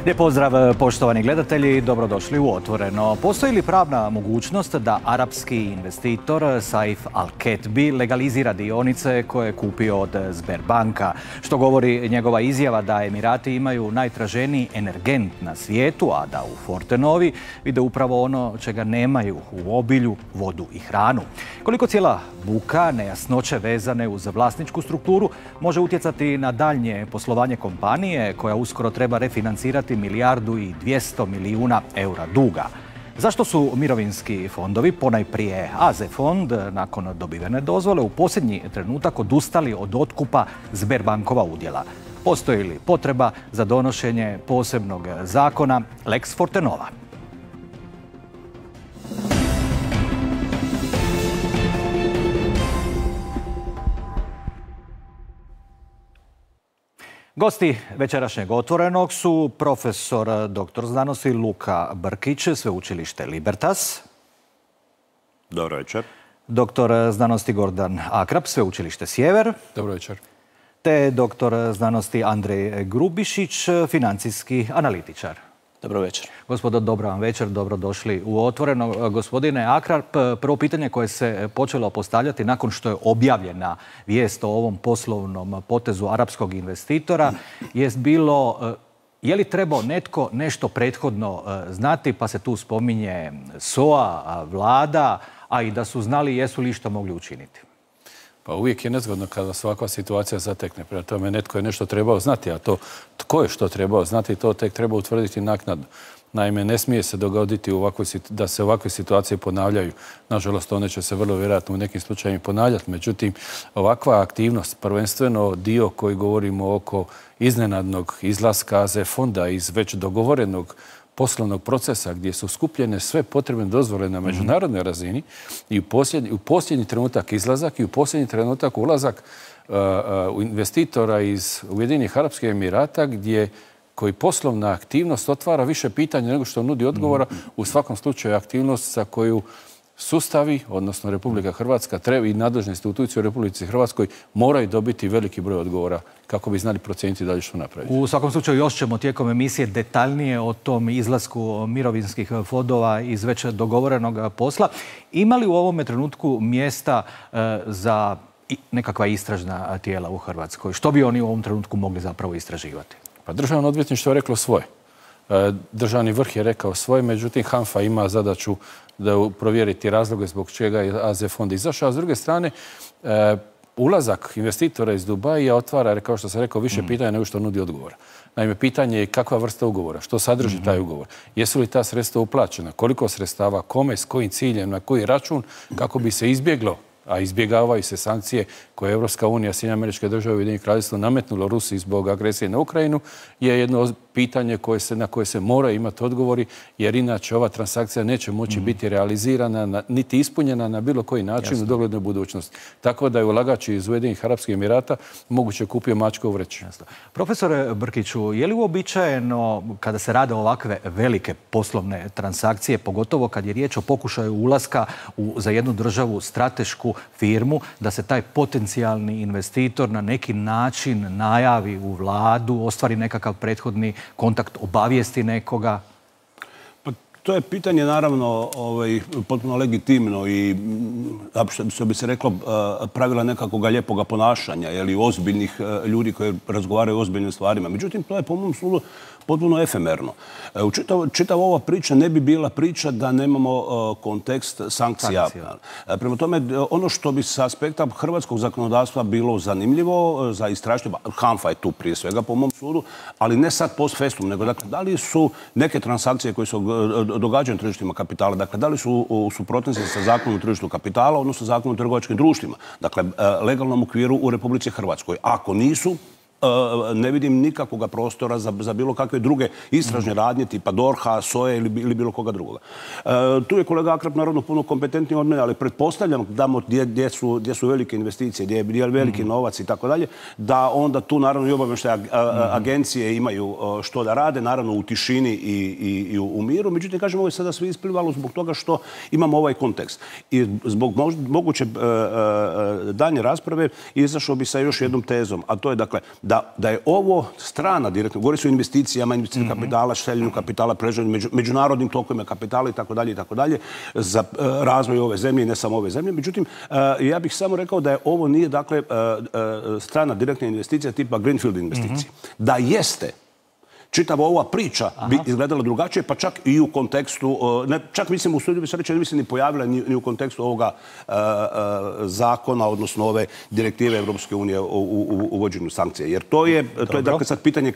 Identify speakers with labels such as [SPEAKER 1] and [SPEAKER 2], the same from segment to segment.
[SPEAKER 1] Lijep pozdrav poštovani gledatelji, dobrodošli u Otvoreno. Postoji li pravna mogućnost da arapski investitor Saif Al-Ketbi legalizira dionice koje je kupio od Sberbanka, što govori njegova izjava da Emirati imaju najtraženiji energent na svijetu, a da u Fortenovi vide upravo ono čega nemaju u obilju, vodu i hranu. Koliko cijela buka, nejasnoće vezane uz vlasničku strukturu može utjecati na daljnje poslovanje kompanije koja uskoro treba refinancirati 1,2 milijarde eura duga. Zašto su mirovinski fondovi, ponajprije AZ fond, nakon dobivene dozvole u posljednji trenutak odustali od otkupa Sberbankova udjela? Postoji li potreba za donošenje posebnog zakona Lex Fortenova? Gosti večerašnjeg Otvorenog su profesor dr. znanosti Luka Brkić, sveučilište Libertas.
[SPEAKER 2] Dobro večer.
[SPEAKER 1] Doktor znanosti Gordan Akrap, sveučilište Sjever.
[SPEAKER 3] Dobro večer.
[SPEAKER 1] Te doktor znanosti Andrej Grubišić, financijski analitičar.
[SPEAKER 4] Dobro večer.
[SPEAKER 1] Gospodo, dobro vam večer, dobrodošli u Otvoreno. Gospodine Akrap, prvo pitanje koje se počelo postavljati nakon što je objavljena vijest o ovom poslovnom potezu arapskog investitora jest bilo je li trebao netko nešto prethodno znati, pa se tu spominje SOA, vlada, a i da su znali jesu li što mogli učiniti.
[SPEAKER 3] Pa uvijek je nezgodno kada se ovakva situacija zatekne. Prema tome netko je nešto trebao znati, a to tko je što trebao znati, to tek treba utvrditi naknadno. Naime, ne smije se dogoditi da se ovakve situacije ponavljaju. Nažalost, one će se vrlo vjerojatno u nekim slučajima ponavljati. Međutim, ovakva aktivnost, prvenstveno dio koji govorimo oko iznenadnog izlaska AZ fonda iz već dogovorenog poslovnog procesa gdje su skupljene sve potrebne dozvole na međunarodnoj razini i u posljednji trenutak izlazak i u posljednji trenutak ulazak investitora iz Ujedinjenih Arapskih Emirata koji poslovna aktivnost otvara više pitanja nego što nudi odgovora. U svakom slučaju aktivnost za koju sustavi, odnosno Republika Hrvatska i nadležne institucije u Republici Hrvatskoj moraju dobiti veliki broj odgovora kako bi znali procijeniti dalje što napraviti.
[SPEAKER 1] U svakom slučaju još ćemo tijekom emisije detaljnije o tom izlasku mirovinskih fondova iz već dogovorenog posla. Ima li u ovome trenutku mjesta za nekakva istražna tijela u Hrvatskoj? Što bi oni u ovom trenutku mogli zapravo istraživati?
[SPEAKER 3] Pa Državno odvjetništvo je reklo svoje. Državni vrh je rekao svoje, međutim HANFA ima zadaću da provjeriti razloge zbog čega je AZ fond izašao, a s druge strane ulazak investitora iz Dubaija otvara, kao što sam rekao, više pitanja nego što nudi odgovora. Naime, pitanje je kakva vrsta ugovora, što sadrži taj ugovor, jesu li ta sredstva uplaćena, koliko sredstava, kome, s kojim ciljem, na koji račun, kako bi se izbjeglo, a izbjegavaju se sankcije koje Evropska unija, Sjedinjene Američke Države i Ujedinjeno Kraljevstvo nametnulo Rusiji zbog agresije na Ukrajinu, je jedno pitanje na koje se mora imati odgovori, jer inače ova transakcija neće moći biti realizirana niti ispunjena na bilo koji način u doglednoj budućnosti. Tako da je ulagač iz Ujedinjenih Arapskih Emirata moguće kupio mačka u vreći.
[SPEAKER 1] Profesore Brkiću, je li uobičajeno kada se rade ovakve velike poslovne transakcije, pogotovo kad je riječ o pokušaju ulaska za jednu državu stratešku firmu, da se taj potencijalni investitor na neki način najavi u vladu, ostvari nekakav prethodni kontakt, obavijesti nekoga?
[SPEAKER 2] Pa to je pitanje naravno potpuno legitimno i što bi se reklo pravila nekakvog lijepoga ponašanja ili ozbiljnih ljudi koji razgovaraju o ozbiljnim stvarima. Međutim, to je po mom sudu potpuno efemerno. Čitava ova priča ne bi bila priča da nemamo kontekst sankcija. Prema tome, ono što bi sa aspekta hrvatskog zakonodavstva bilo zanimljivo za istražitelja, HANFA je tu prije svega po mom sudu, ali ne sad post festum, nego dakle, da li su neke transakcije koje se događaju na tržištima kapitala, dakle, da li su u suprotnosti sa zakonom o tržištu kapitala, odnosno zakonom o trgovačkim društvima, dakle, legalnom okviru u Republici Hrvatskoj. Ako nisu, ne vidim nikakvog prostora za bilo kakve druge istražne radnje, tipa DORH-a, SOA ili bilo koga drugoga. Tu je kolega Akrap naravno puno kompetentniji od mene, ali pretpostavljam gdje su velike investicije, gdje je veliki novac i tako dalje, da onda tu naravno i obavještajne agencije imaju što da rade, naravno u tišini i u miru. Međutim, kažem, ovo je sada sve isplivalo zbog toga što imamo ovaj kontekst. I zbog moguće daljnje rasprave izašao bi sa još jednom tezom, a to je dakle da je ovo strana direktno, govori se o investicijama, investicijama kapitala, šteljenju kapitala, preživljanju, međunarodnim tokovima kapitala i tako dalje, za razvoj ove zemlje i ne samo ove zemlje. Međutim, ja bih samo rekao da je ovo nije, dakle, strana direktna investicija tipa Greenfield investicije. Da jeste, čitava ova priča bi izgledala drugačije, pa čak i u kontekstu, čak mislim u studiju bi se reći, ne bi se ni pojavila ni u kontekstu ovoga zakona, odnosno ove direktive Evropske unije u uvođenju sankcija. Jer to je dakle sad pitanje,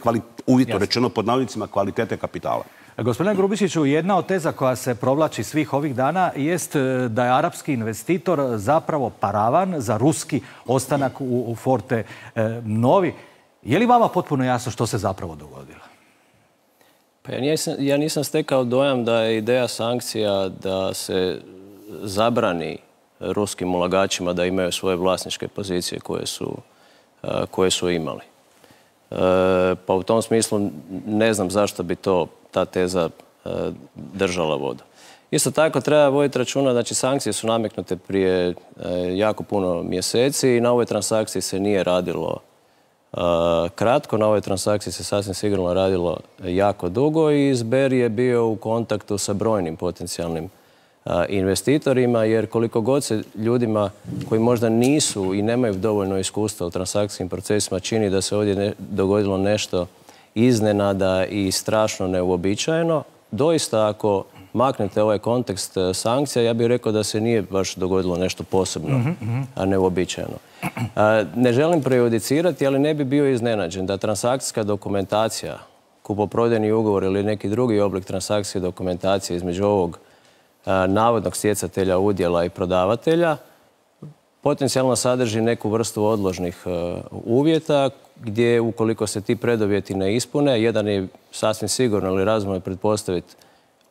[SPEAKER 2] uvjetno rečeno pod navodnicima, kvalitete kapitala.
[SPEAKER 1] Gospodine Grubišiću, jedna od teza koja se provlači svih ovih dana jest da je arapski investitor zapravo paravan za ruski ostanak u Forte Novi. Je li vama potpuno jasno što se zapravo dogodilo?
[SPEAKER 4] Pa ja nisam stekao dojam da je ideja sankcija da se zabrani ruskim ulagačima da imaju svoje vlasničke pozicije koje su imali. Pa u tom smislu ne znam zašto bi ta teza držala vodu. Isto tako treba voditi računa, znači sankcije su nametnute prije jako puno mjeseci i na ovoj transakciji se nije radilo kratko, na ovoj transakciji se sasvim sigurno radilo jako dugo i Sber je bio u kontaktu sa brojnim potencijalnim investitorima, jer koliko god se ljudima koji možda nisu i nemaju dovoljno iskustva u transakcijskim procesima čini da se ovdje dogodilo nešto iznenada i strašno neuobičajeno, doista ako maknete ovaj kontekst sankcija, ja bih rekao da se nije baš dogodilo nešto posebno, a neuobičajeno. Ne želim prejudicirati, ali ne bi bio iznenađen da transakcijska dokumentacija, kupoprodajni ugovor ili neki drugi oblik transakcijske dokumentacije između ovog navodnog stjecatelja udjela i prodavatelja potencijalno sadrži neku vrstu odložnih uvjeta gdje ukoliko se ti preduvjeti ne ispune, jedan je sasvim sigurno ili razumno pretpostaviti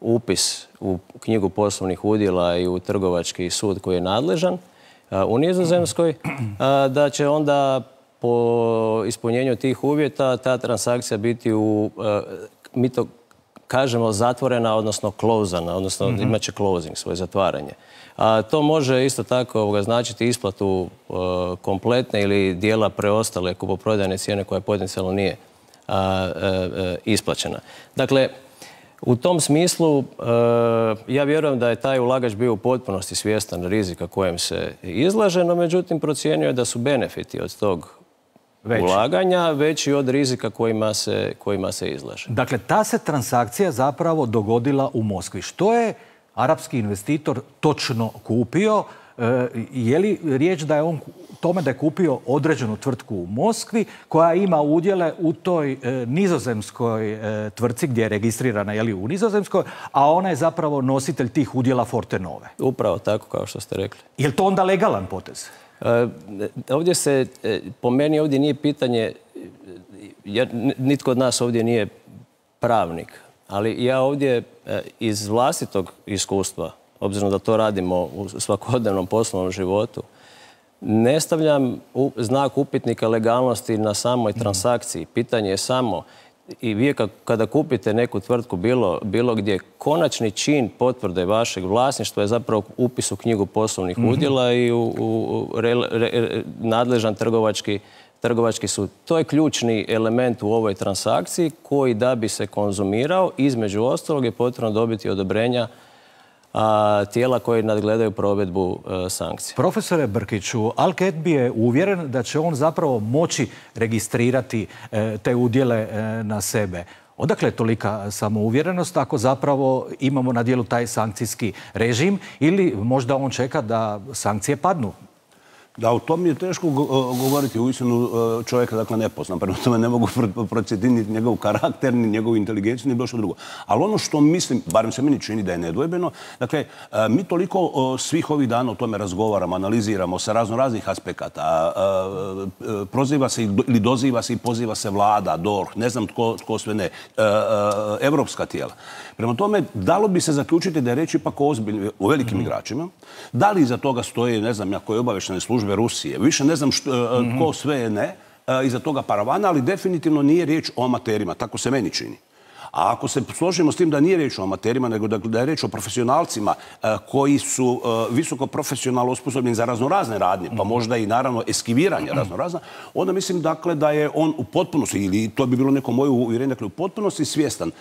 [SPEAKER 4] upis u knjigu poslovnih udjela i u trgovački sud koji je nadležan u Nizozemskoj, da će onda po ispunjenju tih uvjeta ta transakcija biti mi to kažemo zatvorena, odnosno closana, odnosno imat će closing, svoje zatvaranje. To može isto tako značiti isplatu kompletne ili dijela preostale kupoprodajne cijene koja potencijalno nije isplaćena. Dakle, u tom smislu ja vjerujem da je taj ulagač bio u potpunosti svjestan rizika kojem se izlaže, no međutim procijenio je da su benefiti od tog ulaganja veći od rizika kojima se izlaže.
[SPEAKER 1] Dakle, ta se transakcija zapravo dogodila u Moskvi. Što je arapski investitor točno kupio? Je li riječ da je on tome da je kupio određenu tvrtku u Moskvi koja ima udjele u toj nizozemskoj tvrtci gdje je registrirana u Nizozemskoj, a ona je zapravo nositelj tih udjela Forte Nove?
[SPEAKER 4] Upravo tako kao što ste rekli.
[SPEAKER 1] Je li to onda legalan potez?
[SPEAKER 4] Ovdje se, po meni ovdje nije pitanje, jer nitko od nas ovdje nije pravnik, ali ja ovdje iz vlastitog iskustva, obzirom da to radimo u svakodnevnom poslovnom životu, ne stavljam znak upitnika legalnosti na samoj transakciji. Pitanje je samo, i vi kada kupite neku tvrtku bilo gdje, konačni čin potvrde vašeg vlasništva je zapravo upis u knjigu poslovnih udjela i u nadležan trgovački sud. To je ključni element u ovoj transakciji koji da bi se konzumirao, između ostalog je potrebno dobiti odobrenja tijela koji nadgledaju provedbu sankcija.
[SPEAKER 1] Profesore Brkiću, Al-Ketbi je uvjeren da će on zapravo moći registrirati te udjele na sebe. Odakle je tolika samouvjerenost ako zapravo imamo na dijelu taj sankcijski režim ili možda on čeka da sankcije padnu?
[SPEAKER 2] Da, o tom je teško govoriti. Uistinu čovjeka, dakle, ne poznam. Prema tome ne mogu procijeniti ni njegov karakter, ni njegovu inteligenciju, ni bilo što drugo. Ali ono što mislim, barem se meni čini da je nedvojbeno, dakle, mi toliko svih ovih dana o tome razgovaramo, analiziramo sa raznih aspekata. Proziva se ili doziva se i poziva se vlada, DORH, ne znam tko sve ne, evropska tijela. Prema tome, dalo bi se zaključiti da je reč ipak o velikim igračima. Da li iza toga stoje, ne znam ja, koje obavještajne službe Rusije, više ne znam tko sve je ne, iza toga paravana, ali definitivno nije riječ o amaterima, tako se meni čini. A ako se složimo s tim da nije riječ o amaterima, nego da je riječ o profesionalcima koji su visoko profesionalno osposobljeni za raznorazne radnje, pa možda i naravno eskiviranje raznorazna, onda mislim dakle da je on u potpunosti, ili to bi bilo neko moje uvjerenje, dakle u potpunosti svjestan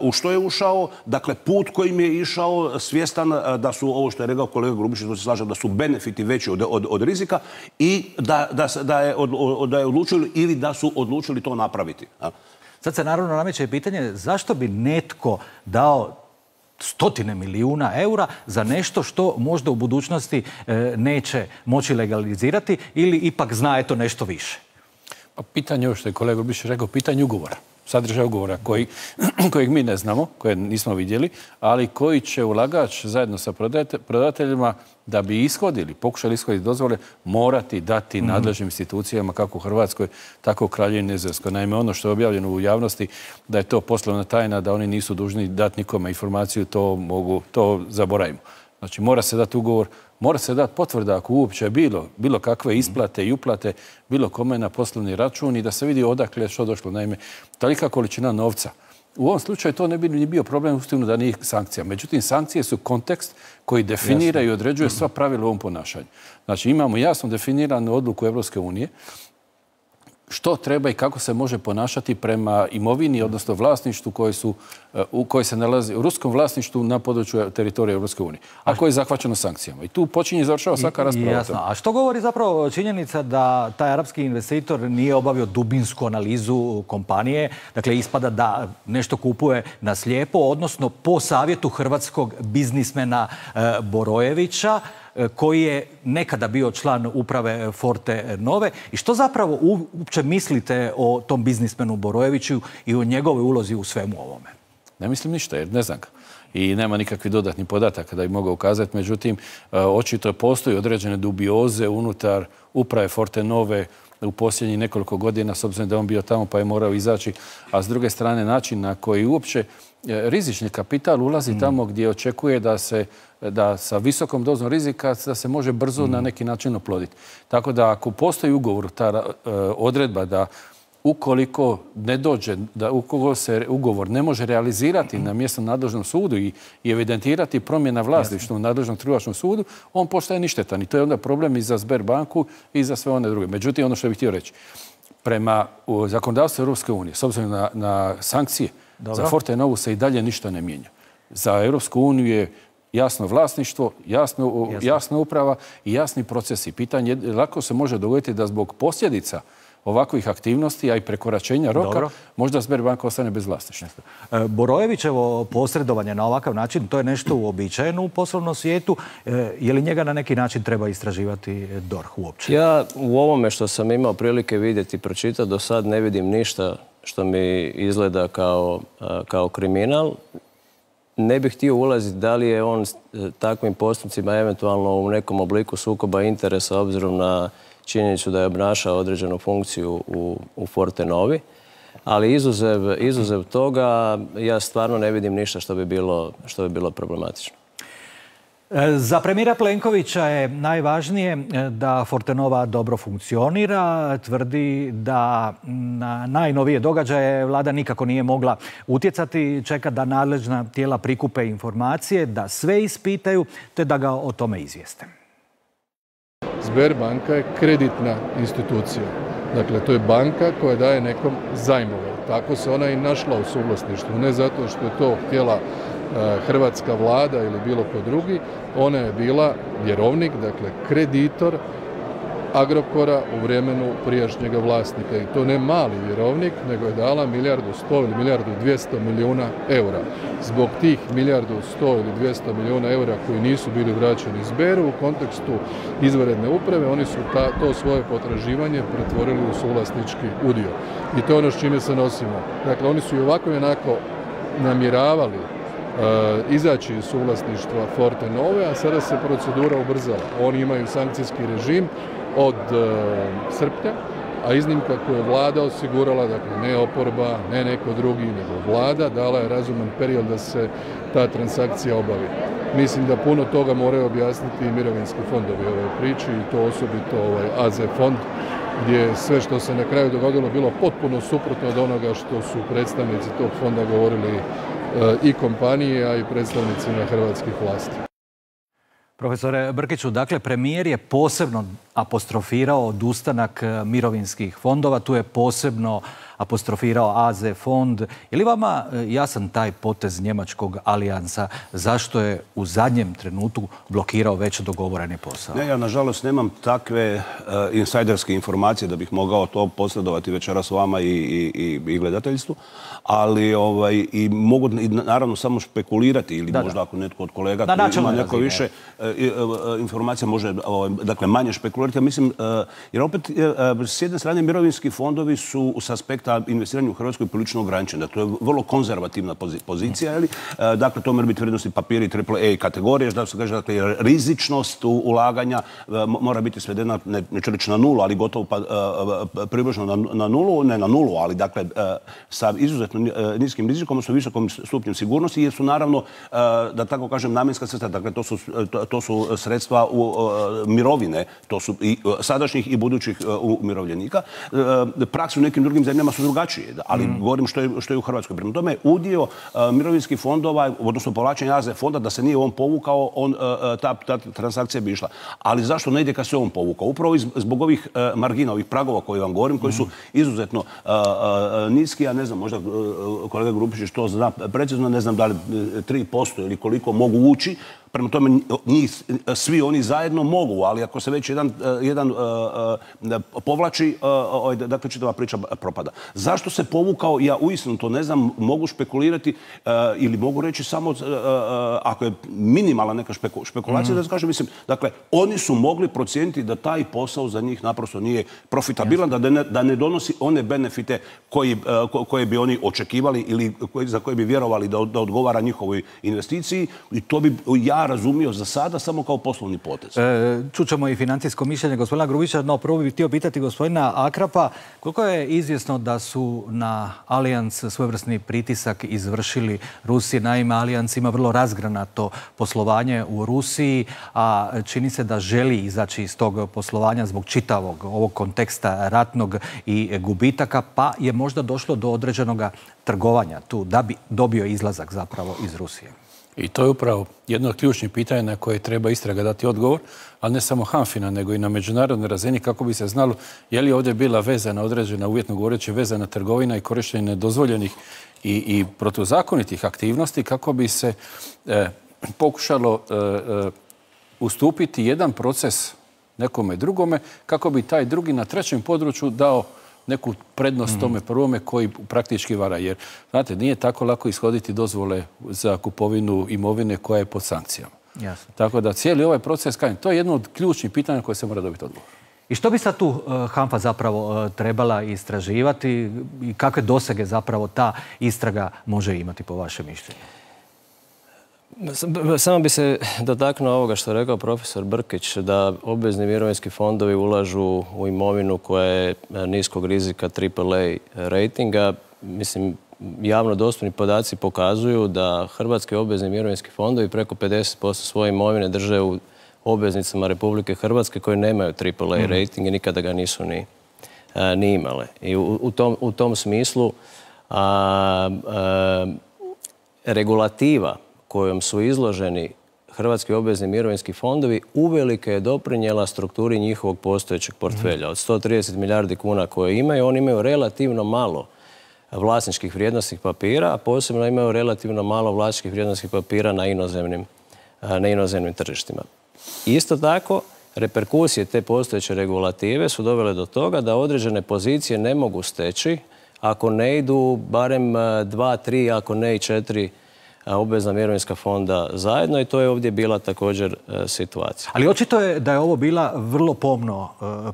[SPEAKER 2] u što je ušao, dakle put kojim je išao, svjestan da su, ovo što je rekao kolega Grubišić, to se slažem, da su benefiti veći od rizika i da je odlučili ili da su odlučili to napraviti.
[SPEAKER 1] Sad se naravno nameće pitanje zašto bi netko dao stotine milijuna eura za nešto što možda u budućnosti neće moći legalizirati ili ipak zna eto nešto više?
[SPEAKER 3] Pitanje, ovo što je kolega Grubišić rekao, pitanje ugovora. Sadržaj ugovora kojeg mi ne znamo, koje nismo vidjeli, ali koji će ulagač zajedno sa prodateljima da bi pokušali ishoditi dozvole, morati dati nadležnim institucijama kako u Hrvatskoj, tako u Kraljevini Nizozemskoj. Naime, ono što je objavljeno u javnosti da je to poslovna tajna, da oni nisu dužni dati nikome informaciju, to zaboravimo. Znači, mora se dati ugovor, mora se dati potvrda ako uopće bilo kakve isplate i uplate bilo kome na poslovni račun i da se vidi odakle što došlo. Naime, tolika količina novca. U ovom slučaju to ne bi ni bio problem uistinu da nije sankcija. Međutim, sankcije su kontekst koji definira i određuje sva pravila u ovom ponašanju. Znači, imamo jasno definiranu odluku Evropske unije što treba i kako se može ponašati prema imovini, odnosno vlasništvu koje se nalazi u ruskom vlasništvu na području teritorija Evropske unije, a koje je zahvaćeno sankcijama. I tu počinje i završava svaka rasprava.
[SPEAKER 1] Jasno. A što govori zapravo činjenica da taj arapski investitor nije obavio dubinsku analizu kompanije? Dakle, ispada da nešto kupuje na slijepo, odnosno po savjetu hrvatskog biznismena Borojevića, koji je nekada bio član uprave Forte Nove. I što zapravo uopće mislite o tom biznismenu Borojeviću i o njegovoj ulozi u svemu ovome?
[SPEAKER 3] Ne mislim ništa, jer ne znam ga. I nema nikakvih dodatnih podataka da bi mogao ukazati. Međutim, očito postoji određene dubioze unutar uprave Forte Nove u posljednjih nekoliko godina, s obzirom da je on bio tamo pa je morao izaći, a s druge strane način na koji uopće rizični kapital ulazi tamo gdje očekuje da sa visokom dozom rizika da se može brzo na neki način oploditi. Tako da ako postoji ugovor, ta odredba da ukoliko ne dođe, da ukoliko se ugovor ne može realizirati na mjesnom nadležnom sudu i evidentirati promjena vlasništva u nadležnom trgovačkom sudu, on postaje ništetan. I to je onda problem i za Sberbanku i za sve one druge. Međutim, ono što bih htio reći, prema zakonodavstvu Europske unije, s obzirom na sankcije, za Forte Novu se i dalje ništa ne mijenja. Za Europsku uniju je jasno vlasništvo, jasna uprava i jasni procesi. Pitanje lako se može dogoditi da zbog posljedica ovakvih aktivnosti, a i prekoračenja roka, možda Sberbanka ostane bez vlasništva.
[SPEAKER 1] Borojevićevo posredovanje na ovakav način, to je nešto uobičajeno u poslovnom svijetu. Je li njega na neki način treba istraživati DORH uopće?
[SPEAKER 4] Ja u ovome što sam imao prilike vidjeti i pročitati, do sad ne vidim ništa što mi izgleda kao kriminal. Ne bih htio ulaziti da li je on takvim postupcima eventualno u nekom obliku sukoba interesa obzirom na činjenicu da je obnašao određenu funkciju u Forte Novi, ali izuzev toga ja stvarno ne vidim ništa što bi bilo problematično.
[SPEAKER 1] Za premijera Plenkovića je najvažnije da Forte Nova dobro funkcionira. Tvrdi da na najnovije događaje vlada nikako nije mogla utjecati. Čeka da nadležna tijela prikupe informacije, da sve ispitaju, te da ga o tome izvijeste.
[SPEAKER 5] Sberbanka je kreditna institucija. Dakle, to je banka koja daje nekom zajmove. Tako se ona i našla u suvlasništvu. Ne zato što je to htjela hrvatska vlada ili bilo ko drugi. Ona je bila vjerovnik, dakle kreditor Agrokora u vremenu prijašnjega vlasnika. I to ne mali vjerovnik, nego je dala 1.100 ili 1.200 milijuna eura. Zbog tih 1.100 ili 200 milijuna eura koji nisu bili vraćeni iz Beru u kontekstu izvanredne uprave, oni su to svoje potraživanje pretvorili u suvlasnički udio. I to je ono s čime se nosimo. Dakle, oni su i ovako i onako namjeravali izaći iz suvlasništva Fortenove, a sada se procedura ubrzala. Oni imaju sankcijski režim od srpnja, a iznimka koju je vlada osigurala, dakle ne oporba, ne neko drugi, nego vlada, dala je razuman period da se ta transakcija obavi. Mislim da puno toga moraju objasniti i mirovinski fondovi ovoj priči i to osobito AZ fond, gdje je sve što se na kraju dogodilo bilo potpuno suprotno od onoga što su predstavnici tog fonda govorili i kompanije, a i predstavnicima hrvatskih vlasti.
[SPEAKER 1] Profesore Brkiću, dakle, premijer je posebno apostrofirao odustanak mirovinskih fondova, tu je posebno apostrofirao AZ fond. Je li vama jasan taj potez njemačkog alijansa? Zašto je u zadnjem trenutku blokirao već dogovoreni posao?
[SPEAKER 2] Ne, ja nažalost nemam takve insajderske informacije da bih mogao to posredovati večeras vama i gledateljstvu, ali i mogu naravno samo špekulirati ili možda ako netko od kolega ima neko više informacija može dakle manje špekulirati. Ja mislim, jer opet s jedne strane mirovinski fondovi su s aspekta investiranja u Hrvatskoj prilično ograničeni. To je vrlo konzervativna pozicija. Dakle, to mora biti vrijednosti papiri AAA kategorije. Da se kaže, dakle, rizičnost ulaganja mora biti svedena, neću reći na nulu, ali gotovo približno na nulu. Ne na nulu, ali dakle sa izuzetno niskim rizikom, odnosno visokom stupnjem sigurnosti, jer su naravno, da tako kažem, namjenska sredstva. Dakle, to su sredstva mirovine, to su i sadašnjih i budućih umirovljenika. Prakse u nekim drugim zemljama su drugačije, ali govorim što je u Hrvatskoj. Prema tome, udio mirovinskih fondova, odnosno povlačenje AZ fonda, da se nije on povukao, ta transakcija bi išla. Ali zašto ne ide kad se on povukao? Upravo zbog ovih margina, ovih pragova koje vam govorim, koji su izuzetno niski, ja ne znam, možda kolega Grubišić to zna precizno, ne znam da li 3% ili koliko mogu ući. Prema tome, svi oni zajedno mogu, ali ako se već jedan povlači, dakle, čitava priča propada. Zašto se povukao? Ja uistinu to ne znam, mogu špekulirati ili mogu reći samo ako je minimalna neka špekulacija, da kažem, mislim, dakle, oni su mogli procijeniti da taj posao za njih naprosto nije profitabilan, da ne donosi one benefite koje bi oni očekivali ili za koje bi vjerovali da odgovara njihovoj investiciji, i to bi ja razumio za sada samo kao poslovni potez.
[SPEAKER 1] Čućemo i financijsko mišljenje gospodina Grubića, no prvo bih htio pitati gospodina Akrapa koliko je izvjesno da su na Allianz svojevrsni pritisak izvršili Rusije. Naime, Allianz ima vrlo razgranato poslovanje u Rusiji, a čini se da želi izaći iz tog poslovanja zbog čitavog ovog konteksta ratnog i gubitaka, pa je možda došlo do određenog trgovanja tu da bi dobio izlazak zapravo iz Rusije.
[SPEAKER 3] I to je upravo jedno od ključnih pitanja na koje treba istraga dati odgovor, ali ne samo HANFA-ina, nego i na međunarodnoj razini kako bi se znalo je li ovdje bila vezana određena, uvjetno govoreći, vezana trgovina i korištenje nedozvoljenih i protuzakonitih aktivnosti kako bi se pokušalo ustupiti jedan proces nekome drugome, kako bi taj drugi na trećem području dao neku prednost tome prvome koji praktički vara. Jer, znate, nije tako lako ishoditi dozvole za kupovinu imovine koja je pod sankcijama.
[SPEAKER 1] Jasno.
[SPEAKER 3] Tako da cijeli ovaj proces, to je jedno od ključnih pitanja koje se mora dobiti odgovor.
[SPEAKER 1] I što bi sad tu HANFA zapravo trebala istraživati i kakve dosege zapravo ta istraga može imati po vašem mišljenju?
[SPEAKER 4] Samo bi se dotaknuo ovoga što je rekao profesor Brkić, da obvezni mirovinski fondovi ulažu u imovinu koja je niskog rizika AAA ratinga. Mislim, javno dostupni podaci pokazuju da hrvatski obvezni mirovinski fondovi preko 50% svoje imovine drže u obveznicama Republike Hrvatske koje nemaju AAA rating i nikada ga nisu ni imale. I u tom smislu regulativa kojom su izloženi hrvatski obvezni mirovinski fondovi uvelike je doprinijela strukturi njihovog postojećeg portfelja. Od 130 milijardi kuna koje imaju, oni imaju relativno malo vlasničkih vrijednosnih papira, a posebno imaju relativno malo vlasničkih vrijednosnih papira na inozemnim tržištima. Isto tako, reperkusije te postojeće regulative su dovele do toga da određene pozicije ne mogu steći ako ne idu barem 2, 3, ako ne i 4 obvezna mirovinska fonda zajedno i to je ovdje bila također situacija.
[SPEAKER 1] Ali očito je da je ovo bila vrlo pomno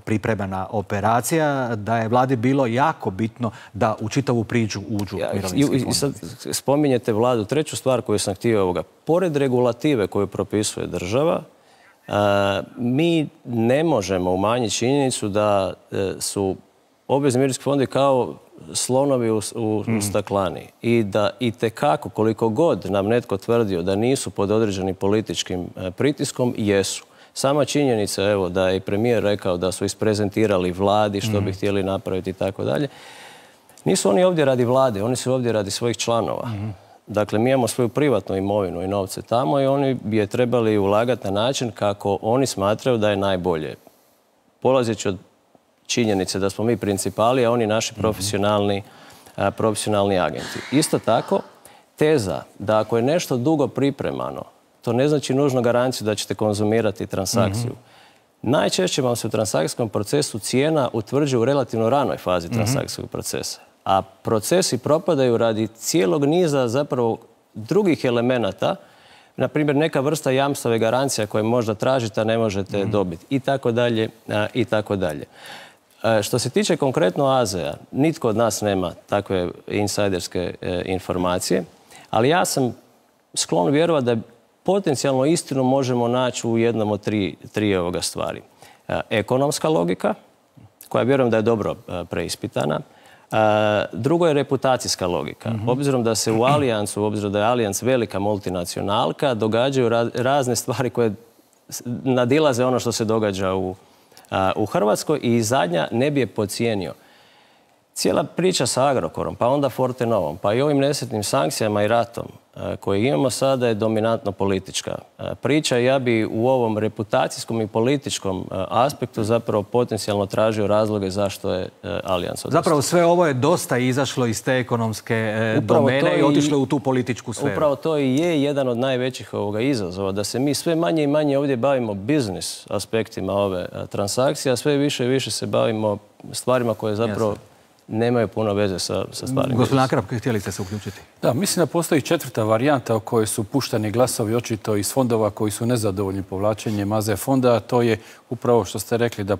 [SPEAKER 1] pripremena operacija, da je vladi bilo jako bitno da u čitavu priču uđu mirovinski fondovi.
[SPEAKER 4] I sad spominjete vladu. Treću stvar koju sam htio pored regulative koju propisuje država, mi ne možemo umanjiti činjenicu da su obvezni mirovinski fondovi kao slonovi u staklani i da itekako koliko god nam netko tvrdio da nisu pod određenim političkim pritiskom, jesu. Sama činjenica evo da je i premijer rekao da su isprezentirali vladi što bi htjeli napraviti i tako dalje. Nisu oni ovdje radi vlade, oni su ovdje radi svojih članova. Dakle, mi imamo svoju privatnu imovinu i novce tamo i oni bi je trebali ulagati na način kako oni smatraju da je najbolje. Polazeći od činjenice da smo mi principali, a oni naši profesionalni agenti. Isto tako, teza da ako je nešto dugo pripremano, to ne znači nužno garanciju da ćete konzumirati transakciju. Najčešće vam se u transakcijskom procesu cijena utvrđuje u relativno ranoj fazi transakcijskog procesa. A procesi propadaju radi cijelog niza zapravo drugih elemenata, na primjer neka vrsta jamstava i garancija koje možda tražite, a ne možete dobiti i tako dalje i tako dalje. Što se tiče konkretno AZ-a, nitko od nas nema takve insajderske informacije, ali ja sam sklon vjerovati da potencijalno istinu možemo naći u jednom od tri ovoga stvari. Ekonomska logika, koja vjerujem da je dobro preispitana. Drugo je reputacijska logika. Obzirom da se u Alijansu, obzirom da je Alijans velika multinacionalka, događaju razne stvari koje nadilaze ono što se događa u Hrvatskoj i zadnja ne bi je podcijenio. Cijela priča sa Agrokorom, pa onda Fortenovom, pa i ovim nesretnim sankcijama i ratom koje imamo sada je dominantno politička priča. Ja bi u ovom reputacijskom i političkom aspektu zapravo potencijalno tražio razloge zašto je Alijans odustao.
[SPEAKER 1] Zapravo sve ovo je dosta izašlo iz te ekonomske domene i otišlo u tu političku sferu.
[SPEAKER 4] Upravo to i je jedan od najvećih izazova, da se mi sve manje i manje ovdje bavimo biznis aspektima ove transakcije, a sve više i više se bavimo stvarima koje zapravo nemaju puno veze sa stvarima.
[SPEAKER 1] Gospodin Akrap, htjeli ste se uključiti?
[SPEAKER 3] Da, mislim da postoji četvrta varijanta o kojoj su puštani glasovi očito iz fondova koji su nezadovoljni povlačenjem AZ fonda. To je upravo što ste rekli da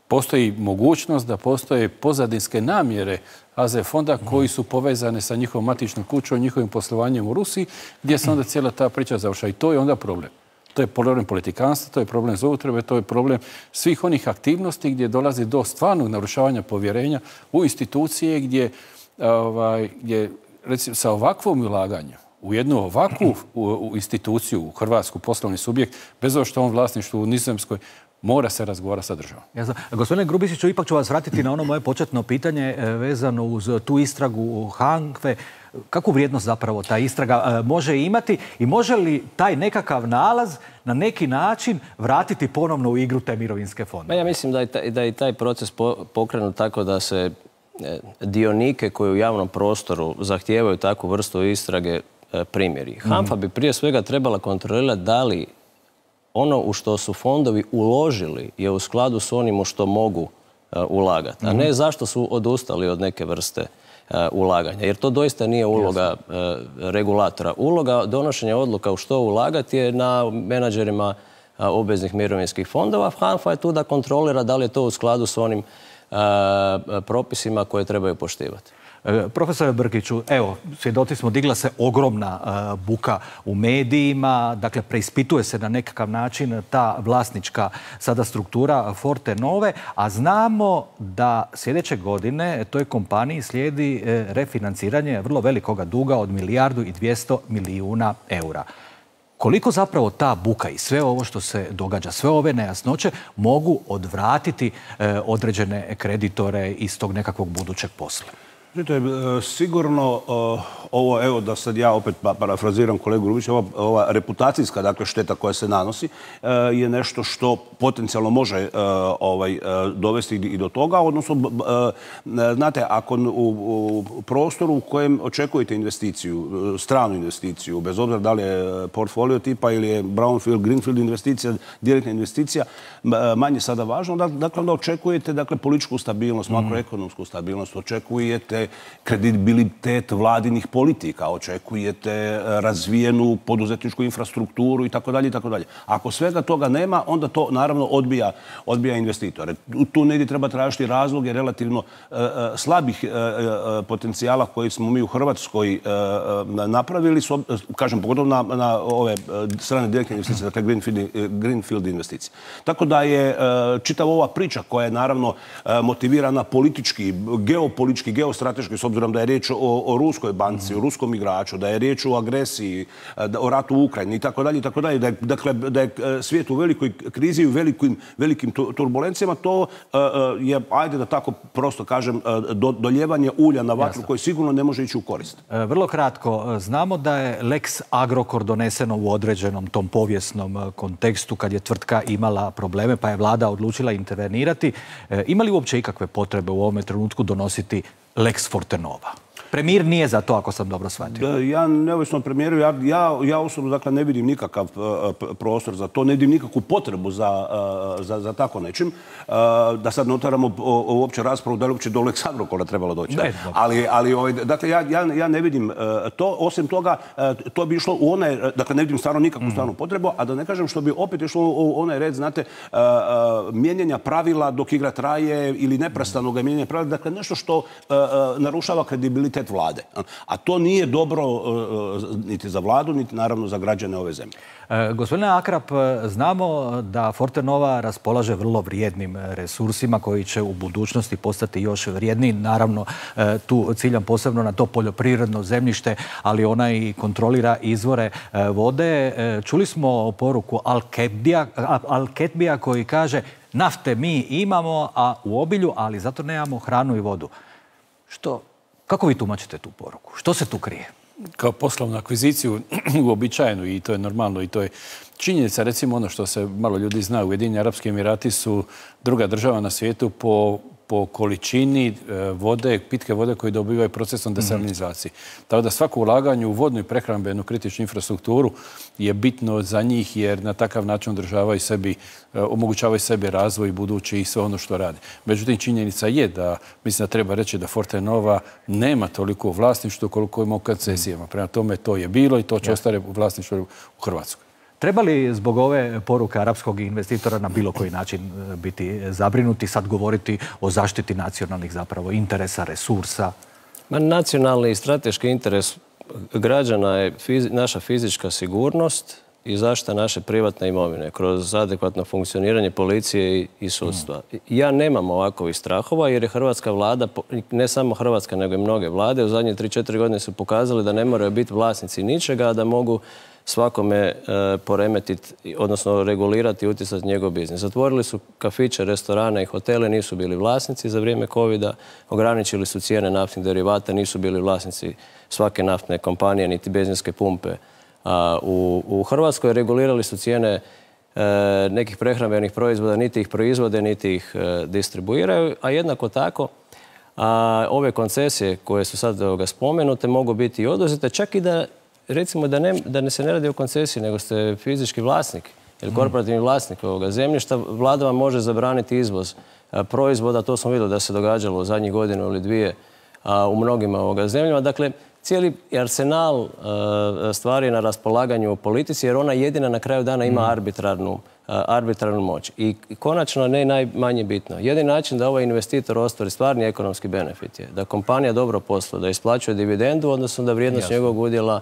[SPEAKER 3] postoji mogućnost da postoje pozadinske namjere AZ fonda koji su povezane sa njihovom matičnom kućom, njihovim poslovanjem u Rusiji, gdje se onda cijela ta priča završa. I to je onda problem. To je problem politikanstva, to je problem zloupotrebe, to je problem svih onih aktivnosti gdje dolazi do stvarnog narušavanja povjerenja u institucije gdje recimo, sa ovakvom ulaganjem u jednu ovakvu instituciju, u Hrvatsku poslovni subjekt, bez obzira što on vlasništvu u Nizozemskoj, mora se razgovarati sa državom.
[SPEAKER 1] Gospodine Grubišiću, ipak ću vas vratiti na ono moje početno pitanje vezano uz tu istragu HANFA-e. Kakvu vrijednost zapravo ta istraga može imati i može li taj nekakav nalaz na neki način vratiti ponovno u igru te mirovinske fondove?
[SPEAKER 4] Ja mislim da je taj proces pokrenut tako da se dionike koji u javnom prostoru zahtijevaju takvu vrstu istrage primjeri. HANFA bi prije svega trebala kontrolirati da li ono u što su fondovi uložili je u skladu s onim u što mogu ulagati, a ne zašto su odustali od neke vrste ulaganja. Jer to doista nije uloga regulatora. Uloga donošenja odluka u što ulagati je na menadžerima obveznih mirovinskih fondova. HANFA je tu da kontrolira da li je to u skladu s onim propisima koje trebaju poštivati.
[SPEAKER 1] Profesore Brkiću, evo, svjedoci smo, digla se ogromna buka u medijima, dakle, preispituje se na nekakav način ta vlasnička sada struktura Fortenove, a znamo da sljedeće godine toj kompaniji slijedi refinanciranje vrlo velikoga duga od 1,2 milijarde eura. Koliko zapravo ta buka i sve ovo što se događa, sve ove nejasnoće mogu odvratiti određene kreditore iz tog nekakvog budućeg posla?
[SPEAKER 2] Sigurno ovo, evo da sad ja opet parafraziram kolegu Rubića, ova reputacijska dakle, šteta koja se nanosi je nešto što potencijalno može dovesti i do toga. Odnosno, znate, ako u prostoru u kojem očekujete investiciju, stranu investiciju, bez obzira da li je portfolio tipa ili je brownfield, greenfield investicija, direktna investicija, manje sada važno, dakle onda očekujete dakle, političku stabilnost, makroekonomsku stabilnost, očekujete kredibilitet vladinih politika, očekujete razvijenu poduzetničku infrastrukturu i tako dalje i tako dalje. Ako svega toga nema, onda to naravno odbija investitore. Tu negdje treba tražiti razloge relativno slabih potencijala koji smo mi u Hrvatskoj napravili, kažem, pogotovo na ove strane direktne investicije, dakle greenfield investicije. Tako da je čitava ova priča koja je naravno motivirana politički, geopolitički, geostrateški, s obzirom da je riječ o ruskoj banci, o ruskom igraču, da je riječ o agresiji, o ratu u Ukrajini i tako dalje, dakle da je svijet u velikoj krizi i u velikim turbulencijama, to je, ajde da tako prosto kažem, doljevanje ulja na vatru koji sigurno ne može ići u korist.
[SPEAKER 1] Vrlo kratko, znamo da je Lex Agrokor doneseno u određenom tom povijesnom kontekstu kad je tvrtka imala probleme pa je vlada odlučila intervenirati. Ima li uopće ikakve potrebe u ovome trenutku donositi Lex Fortenova? Premijer nije za to, ako sam dobro shvatio.
[SPEAKER 2] Ja, neovisno od premijeru, ja osobno dakle, ne vidim nikakav prostor za to, ne vidim nikakvu potrebu za tako nečim. Da sad ne otvaramo uopće raspravu da li uopće do Lex Agrokora trebalo doći. Ali dakle, ja ne vidim to. Osim toga, to bi išlo u onaj, dakle, ne vidim stvarno nikakvu stvarnu potrebu, a da ne kažem što bi opet išlo u onaj red, znate, mijenjanja pravila dok igra traje ili neprestanog mijenjanja pravila, dakle, nešto što narušava kredibilitet vlade. A to nije dobro niti za vladu, niti naravno za građane ove zemlje.
[SPEAKER 1] Gospodine Akrap, znamo da Fortenova raspolaže vrlo vrijednim resursima koji će u budućnosti postati još vrijedniji. Naravno, tu ciljam posebno na to poljoprivredno zemljište, ali ona i kontrolira izvore vode. Čuli smo poruku Al-Ketbija koji kaže nafte mi imamo, a u obilju, ali zato nemamo hranu i vodu. Kako vi tumačite tu poruku? Što se tu krije?
[SPEAKER 3] Kao poslovnu akviziciju uobičajenu i to je normalno i to je činjenica. Recimo ono što se malo ljudi zna, Ujedinjeni Arapski Emirati su druga država na svijetu po količini vode, pitke vode koju dobivaju procesom desalinizacije. Tako da svako ulaganje u vodnu i prehrambenu kritičnu infrastrukturu je bitno za njih jer na takav način održavaju sebi, omogućavaju sebi razvoj budući i sve ono što rade. Međutim, činjenica je da, mislim da treba reći da Fortenova nema toliko vlasništvo koliko ima u koncesijama. Prema tome to je bilo i to će ostati u vlasništvu u Hrvatskoj.
[SPEAKER 1] Treba li zbog ove poruke arapskog investitora na bilo koji način biti zabrinuti, sad govoriti o zaštiti nacionalnih zapravo interesa, resursa?
[SPEAKER 4] Nacionalni i strateški interes građana je naša fizička sigurnost i zaštita naše privatne imovine kroz adekvatno funkcioniranje policije i sudstva. Ja nemam ovakvih strahova jer je hrvatska vlada, ne samo Hrvatska nego i mnoge vlade, u zadnje 3-4 godine su pokazali da ne moraju biti vlasnici ničega, a da mogu svakome poremetiti, odnosno regulirati i utjecati njegov biznis. Zatvorili su kafiće, restorane i hotele, nisu bili vlasnici za vrijeme covida, ograničili su cijene naftnih derivata, nisu bili vlasnici svake naftne kompanije, niti benzinske pumpe. U Hrvatskoj regulirali su cijene nekih prehrambenih proizvoda, niti ih proizvode, niti ih distribuiraju, a jednako tako ove koncesije koje su sad spomenute mogu biti i oduzete, čak i da recimo da se ne radi o koncesiji, nego ste fizički vlasnik ili korporativni vlasnik ovoga zemljišta, vlada vam može zabraniti izvoz proizvoda, to smo vidjeli da se događalo u zadnjih godinu ili dvije u mnogim zemljama. Dakle, cijeli arsenal stvari na raspolaganju u politici, jer ona jedina na kraju dana ima arbitrarnu moć. I konačno, ne najmanje bitno, jedini način da ovaj investitor ostvari stvarni ekonomski benefit je da kompanija dobro posluje, da isplaćuje dividendu, odnosno da vrijednost njegovog udjela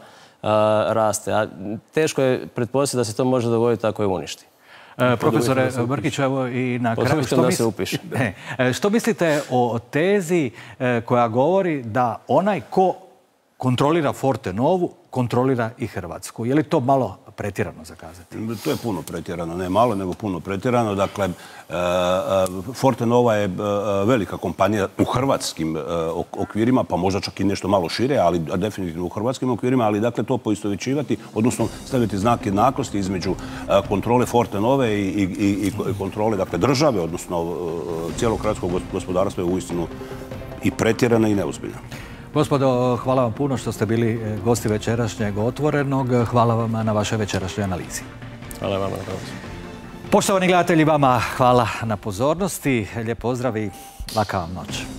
[SPEAKER 4] raste. A teško je pretpostaviti da se to može dogoditi ako je uništi.
[SPEAKER 1] Profesore Brkić, evo i na kraju, što mislite o tezi koja govori da onaj ko kontrolira Fortenovu, kontrolira i Hrvatsku. Je li to malo pretjerano za kazati?
[SPEAKER 2] To je puno pretjerano, ne malo, nego puno pretjerano. Dakle, Fortenova je velika kompanija u hrvatskim okvirima, pa možda čak i nešto malo šire, ali definitivno u hrvatskim okvirima, ali dakle to poistovjećivati, odnosno staviti znak jednakosti između kontrole Fortenove i kontrole dakle, države, odnosno cijelog hrvatskog gospodarstva je uistinu i pretjerana i neozbiljna.
[SPEAKER 1] Gospodo, hvala vam puno što ste bili gosti večerašnjeg Otvorenog. Hvala vam na vašoj večerašnjoj analizi.
[SPEAKER 4] Hvala vam.
[SPEAKER 1] Poštovani gledatelji, vama hvala na pozornosti. Lijep pozdrav i laka vam noć.